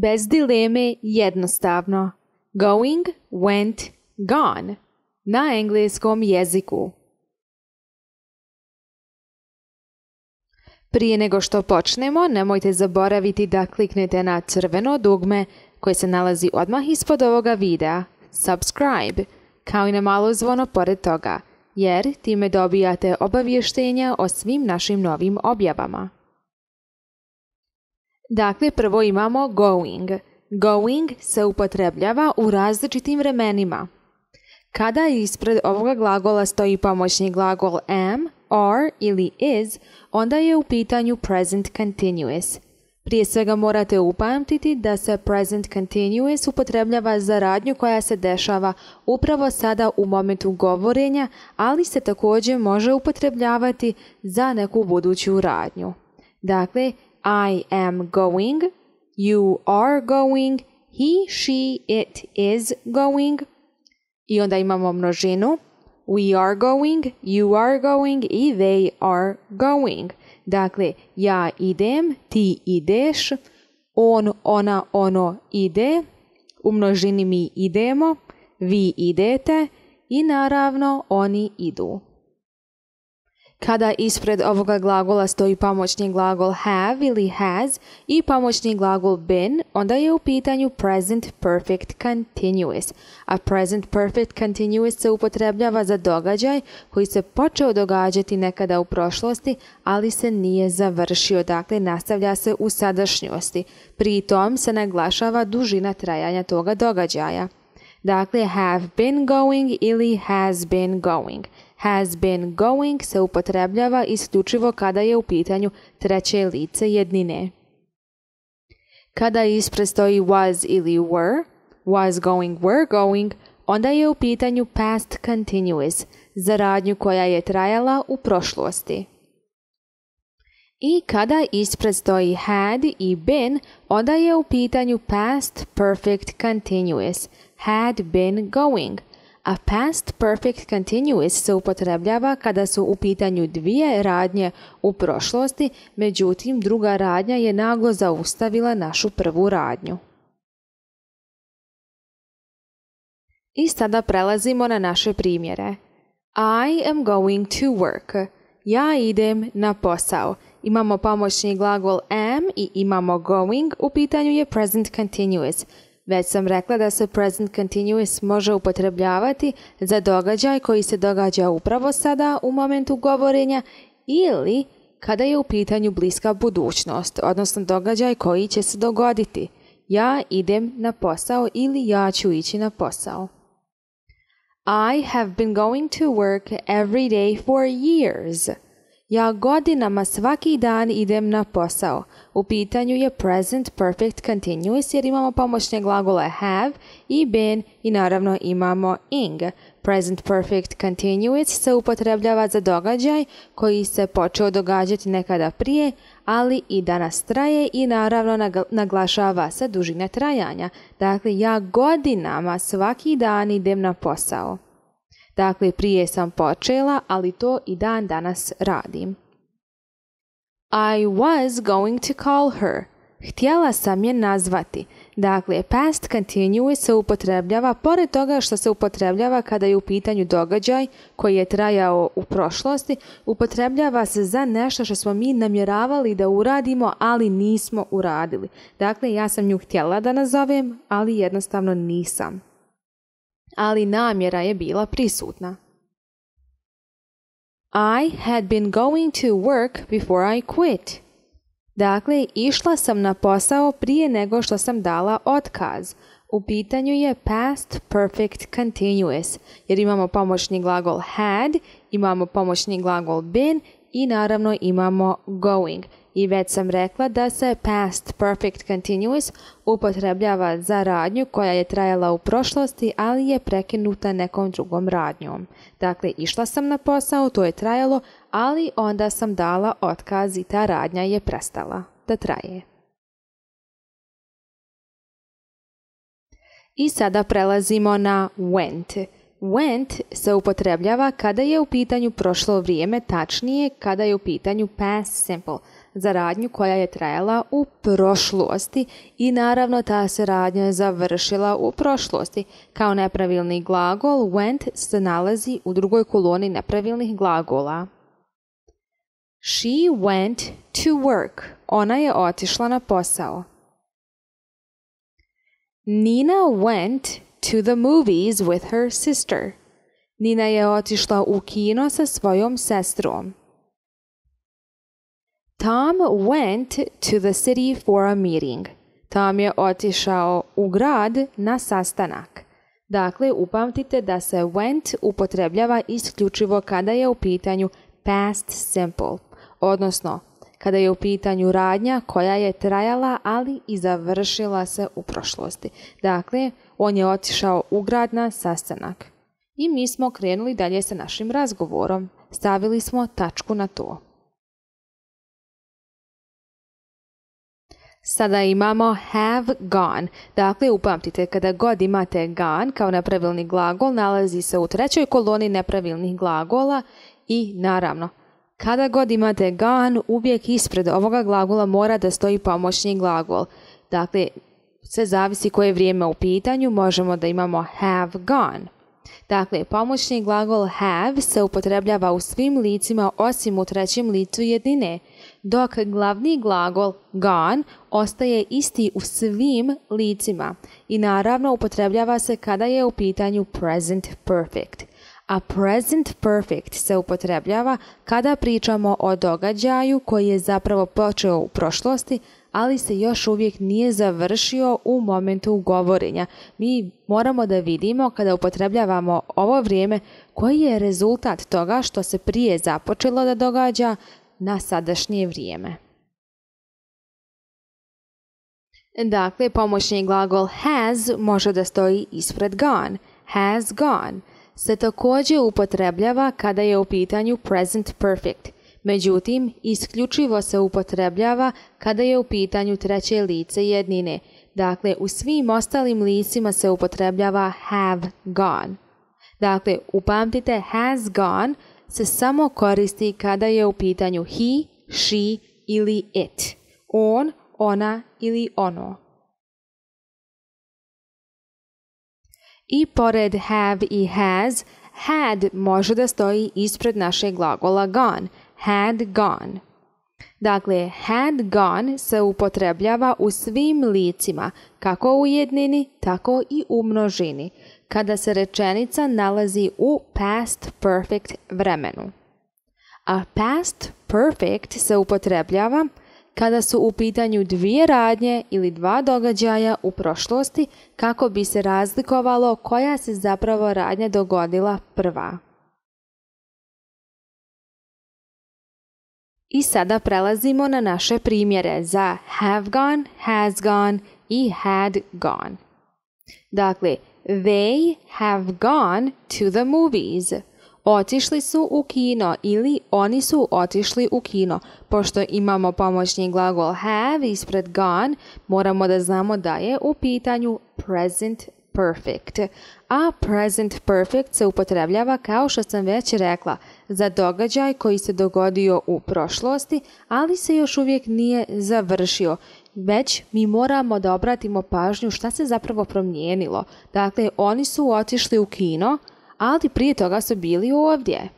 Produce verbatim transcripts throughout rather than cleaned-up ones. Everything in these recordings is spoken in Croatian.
Bez dileme, jednostavno. Going, went, gone. Na engleskom jeziku. Prije nego što počnemo, nemojte zaboraviti da kliknete na crveno dugme koje se nalazi odmah ispod ovoga videa, subscribe, kao i na malo zvono pored toga, jer time dobijate obavještenja o svim našim novim objavama. Dakle, prvo imamo going. Going se upotrebljava u različitim vremenima. Kada ispred ovoga glagola stoji pomoćni glagol am, are ili is, onda je u pitanju present continuous. Prije svega morate upamtiti da se present continuous upotrebljava za radnju koja se dešava upravo sada u momentu govorenja, ali se također može upotrebljavati za neku buduću radnju. Dakle, I am going, you are going, he, she, it is going. I onda imamo množinu. We are going, you are going i they are going. Dakle, ja idem, ti ideš, on, ona, ono ide, u množini mi idemo, vi idete i naravno oni idu. Kada ispred ovoga glagola stoji pomoćni glagol have ili has i pomoćni glagol been, onda je u pitanju present perfect continuous. A present perfect continuous se upotrebljava za događaj koji se počeo događati nekada u prošlosti, ali se nije završio, dakle nastavlja se u sadašnjosti. Pri tom se naglašava dužina trajanja toga događaja. Dakle, have been going ili has been going. Has been going se upotrebljava isključivo kada je u pitanju treće lice jednine. Kada ispred stoji was ili were, was going, were going, onda je u pitanju past continuous, za radnju koja je trajala u prošlosti. I kada ispred stoji had i been, onda je u pitanju past perfect continuous, had been going. A past perfect continuous se upotrebljava kada su u pitanju dvije radnje u prošlosti, međutim druga radnja je naglo zaustavila našu prvu radnju. I sada prelazimo na naše primjere. I am going to work. Ja idem na posao. Imamo pomoćni glagol am i imamo going, u pitanju je present continuous. Već sam rekla da se present continuous može upotrebljavati za događaj koji se događa upravo sada u momentu govorenja ili kada je u pitanju bliska budućnost, odnosno događaj koji će se dogoditi. Ja idem na posao ili ja ću ići na posao. I have been going to work every day for years. Ja godinama svaki dan idem na posao. U pitanju je present perfect continuous jer imamo pomoćne glagole have i been i naravno imamo ing. Present perfect continuous se upotrebljava za događaj koji se počeo događati nekada prije, ali i danas traje i naravno naglašava se dužina trajanja. Dakle, ja godinama svaki dan idem na posao. Dakle, prije sam počela, ali to i dan danas radim. I was going to call her. Htjela sam je nazvati. Dakle, past continuous se upotrebljava pored toga što se upotrebljava kada je u pitanju događaj koji je trajao u prošlosti, upotrebljava se za nešto što smo mi namjeravali da uradimo, ali nismo uradili. Dakle, ja sam nju htjela da nazovem, ali jednostavno nisam. Ali namjera je bila prisutna. I had been going to work before I quit. Dakle, išla sam na posao prije nego što sam dala otkaz. U pitanju je past perfect continuous, jer imamo pomoćni glagol had, imamo pomoćni glagol been i naravno imamo going. I već sam rekla da se past perfect continuous upotrebljava za radnju koja je trajala u prošlosti, ali je prekinuta nekom drugom radnjom. Dakle, išla sam na posao, to je trajalo, ali onda sam dala otkaz i ta radnja je prestala da traje. I sada prelazimo na went. Went se upotrebljava kada je u pitanju prošlo vrijeme, tačnije kada je u pitanju past simple. za radnju koja je trajala u prošlosti i naravno ta se radnja završila u prošlosti. Kao nepravilni glagol went se nalazi u drugoj koloni nepravilnih glagola. She went to work. Ona je otišla na posao. Nina went to the movies with her sister. Nina je otišla u kino sa svojom sestrom. Tom went to the city for a meeting. Tom je otišao u grad na sastanak. Dakle, upamtite da se went upotrebljava isključivo kada je u pitanju past simple, odnosno kada je u pitanju radnja koja je trajala, ali i završila se u prošlosti. Dakle, on je otišao u grad na sastanak. I mi smo krenuli dalje sa našim razgovorom. Stavili smo tačku na to. Sada imamo have gone. Dakle, upamtite, kada god imate gone kao nepravilni glagol, nalazi se u trećoj koloni nepravilnih glagola i naravno, kada god imate gone, uvijek ispred ovoga glagola mora da stoji pomoćni glagol. Dakle, sve zavisi koje vrijeme u pitanju, možemo da imamo have gone. Dakle, pomoćni glagol have se upotrebljava u svim licima osim u trećem licu jednine, dok glavni glagol gone ostaje isti u svim licima i naravno upotrebljava se kada je u pitanju present perfect. A present perfect se upotrebljava kada pričamo o događaju koji je zapravo počeo u prošlosti, ali se još uvijek nije završio u momentu govorenja. Mi moramo da vidimo kada upotrebljavamo ovo vrijeme koji je rezultat toga što se prije započelo da događa na sadašnje vrijeme. Dakle, pomoćni glagol has može da stoji ispred gone. Has gone se također upotrebljava kada je u pitanju present perfect. Međutim, isključivo se upotrebljava kada je u pitanju treće lice jednine. Dakle, u svim ostalim licima se upotrebljava have gone. Dakle, upamtite, has gone se samo koristi kada je u pitanju he, she ili it. On, ona ili ono. I pored have i has, had može da stoji ispred našeg glagola gone. Had gone. Dakle, had gone se upotrebljava u svim licima, kako u jednini, tako i u množini, kada se rečenica nalazi u past perfect vremenu. A past perfect se upotrebljava kada su u pitanju dvije radnje ili dva događaja u prošlosti, kako bi se razlikovalo koja se zapravo radnja dogodila prva. I sada prelazimo na naše primjere za have gone, has gone i had gone. Dakle, they have gone to the movies. Otišli su u kino ili oni su otišli u kino. Pošto imamo pomoćni glagol have ispred gone, moramo da znamo da je u pitanju present perfect. A present perfect se upotrebljava, kao što sam već rekla, za događaj koji se dogodio u prošlosti, ali se još uvijek nije završio. Već mi moramo da obratimo pažnju šta se zapravo promijenilo. Dakle, oni su otišli u kino, ali prije toga su bili ovdje.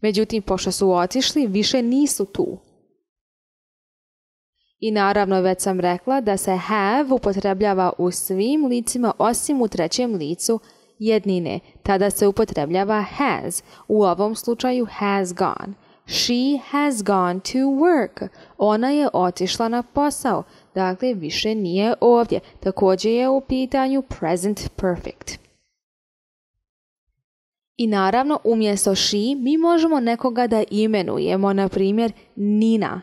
Međutim, pošto su otišli, više nisu tu. I naravno, već sam rekla da se have upotrebljava u svim licima osim u trećem licu jednine. Tada se upotrebljava has. U ovom slučaju has gone. She has gone to work. Ona je otišla na posao. Dakle, više nije ovdje. Također je u pitanju present perfect. I naravno, umjesto she mi možemo nekoga da imenujemo, na primjer Nina.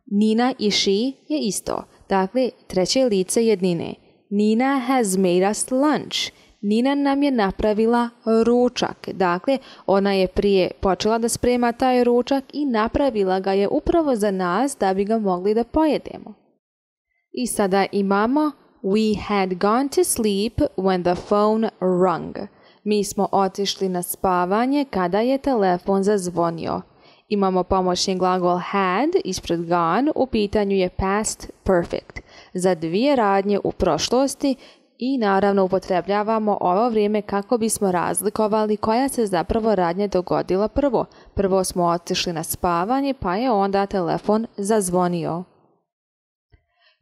Nina i she je isto. Dakle, treće lice jednine. Nina has made us lunch. Nina nam je napravila ručak. Dakle, ona je prije počela da sprema taj ručak i napravila ga je upravo za nas da bi ga mogli da pojedemo. I sada imamo we had gone to sleep when the phone rung. Mi smo otišli na spavanje kada je telefon zazvonio. imamo pomoćni glagol had ispred gone, u pitanju je past perfect. Za dvije radnje u prošlosti i naravno upotrebljavamo ovo vrijeme kako bismo razlikovali koja se zapravo radnja dogodila prvo. Prvo smo otišli na spavanje pa je onda telefon zazvonio.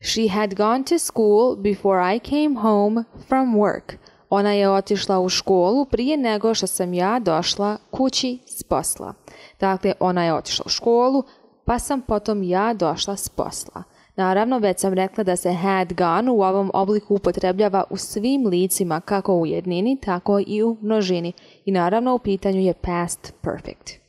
She had gone to school before I came home from work. Ona je otišla u školu prije nego što sam ja došla kući s posla. Dakle, ona je otišla u školu, pa sam potom ja došla s posla. Naravno, već sam rekla da se had gone u ovom obliku upotrebljava u svim licima, kako u jednini, tako i u množini. I naravno, u pitanju je past perfect.